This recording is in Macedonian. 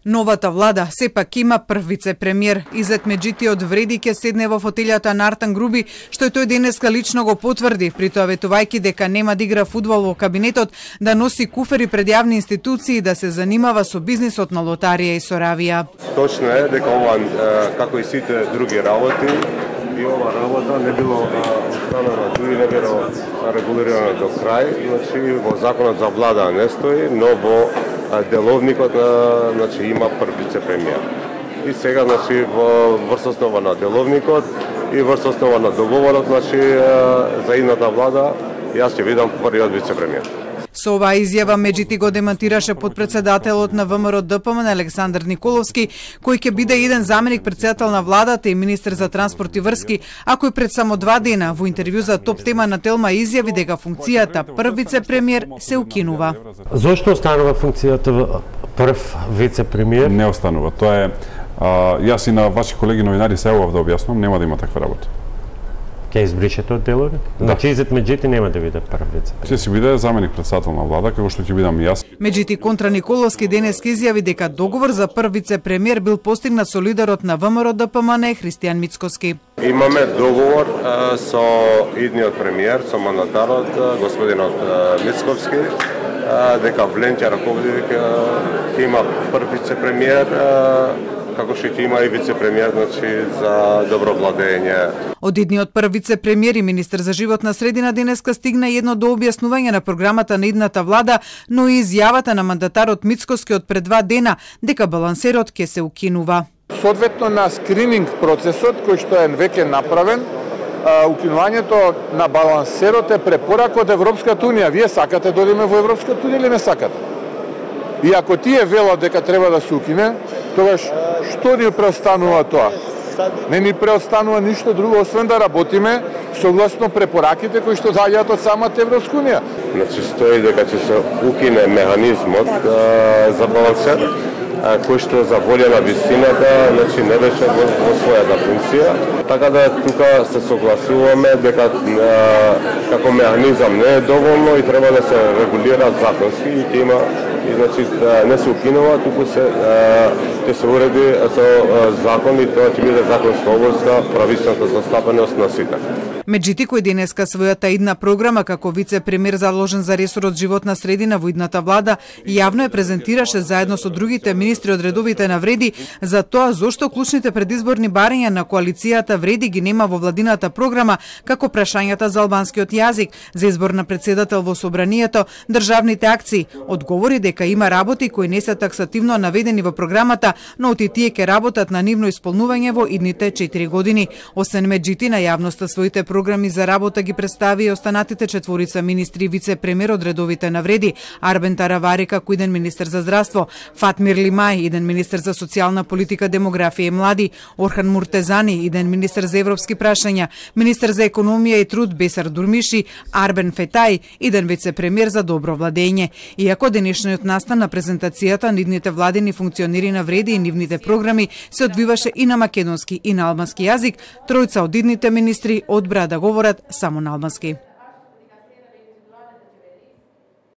Новата влада сепак има прв вице-премиер. Изет Меджитиот вреди ќе седне во фотелјата на Артан Груби, што и тој денеска лично го потврди, при тоа ветувајќи дека нема да игра фудбал во кабинетот, да носи куфери пред јавни институции и да се занимава со бизнисот на лотарија и соравија. Точно е дека ова, како и сите други работи, и ова работа не било установена, дури не било регулирана до крај, значи во законот за влада не стои, но во деловникот значи има прв вице-премиер. И сега значи врз основа на деловникот и врз основа на договорот значи за идната влада јас ќе видам првиот вице-премиер. Со оваа изјава Меджити го демантираше подпредседателот на ВМРО ДПМН Александар Николовски, кој ќе биде еден заменик председател на владата и министер за транспорт и врски, а кој пред само 2 дена во интервју за Топ тема на Телма изјави дека функцијата прв вице-премиер се укинува. Зошто останува функцијата прв вице-премиер? Не останува. Тоа е јас и на ваши колеги новинари се јавав да објаснам, нема да има таква работа. Ќе избришете од деловник? Значи Изет Меджити нема да биде прв вице-премиер. Ќе си биде заменик председател на влада, како што ќе бидам и јас. Меджити контра Николовски денес изјави дека договор за прв вице-премиер бил постигнат со лидерот на ВМРО ДПМН Христијан Мицкоски. Имаме договор со идниот премиер, со мандатарот господинот Мицковски, дека Вленча Раководик ќе има прв вице-премиер, како што ќе има и вице-премиер, значи за добро владење. Од идниот прв вице-премиер и министер за животна средина денеска стигна едно до објаснување на програмата на идната влада, но и изјавата на мандатарот Мицкоски од пред 2 дена дека балансерот ќе се укинува. Соодветно на скрининг процесот кој што е веќе направен, укинувањето на балансерот е препорака од Европската унија. Вие сакате да одиме во Европската унија или не сакате? И ако тие велат дека треба да се укине, тогаш што ни преостанува тоа? Не ни преостанува ништо друго, освен да работиме согласно препораките кои што доаѓаат од самата Европска унија. Значи стои дека ќе се укине механизмот за балансер, кој што за волја на висината, значи не беше во својата функција. Така да тука се согласуваме дека како механизам не е доволно и треба да се регулира законски и ќе има и значи не се укинува, туку ќе се уреди со закон и тоа ќе биде законска обврска, правичната застапеност на сите. Меджити, кој денеска својата идна програма како вице-премиер заложен за ресорот животна средина во идната влада, јавно ја презентираше заедно со другите министри од редовите на Вреди за тоа зошто клучните предизборни барања на коалицијата Вреди ги нема во владината програма, како прашањата за албанскиот јазик, за избор на председател во собранието, државните акции. Одговори дека има работи кои не се таксативно наведени во програмата, но оти тие ќе работат на нивно исполнување во идните 4 години. Освен Меджити на јавноста своите програми за работа ги представи и останатите 4 министри и вице-премиер од редовите на Вреди: Арбен Таравари како иден министер за здравство, Фатмир Лимај иден министер за социјална политика, демографија и млади, Орхан Муртезани иден министер за европски прашања, министер за економија и труд Бесар Дурмиши, Арбен Фетај иден вице-премиер за добро владење. Иако денешниот настан на презентацијата на идните владени функционери на Вреди и нивните програми се одвиваше и на македонски и на албански јазик, тројца од идните министри одбраа да говорат само на албански.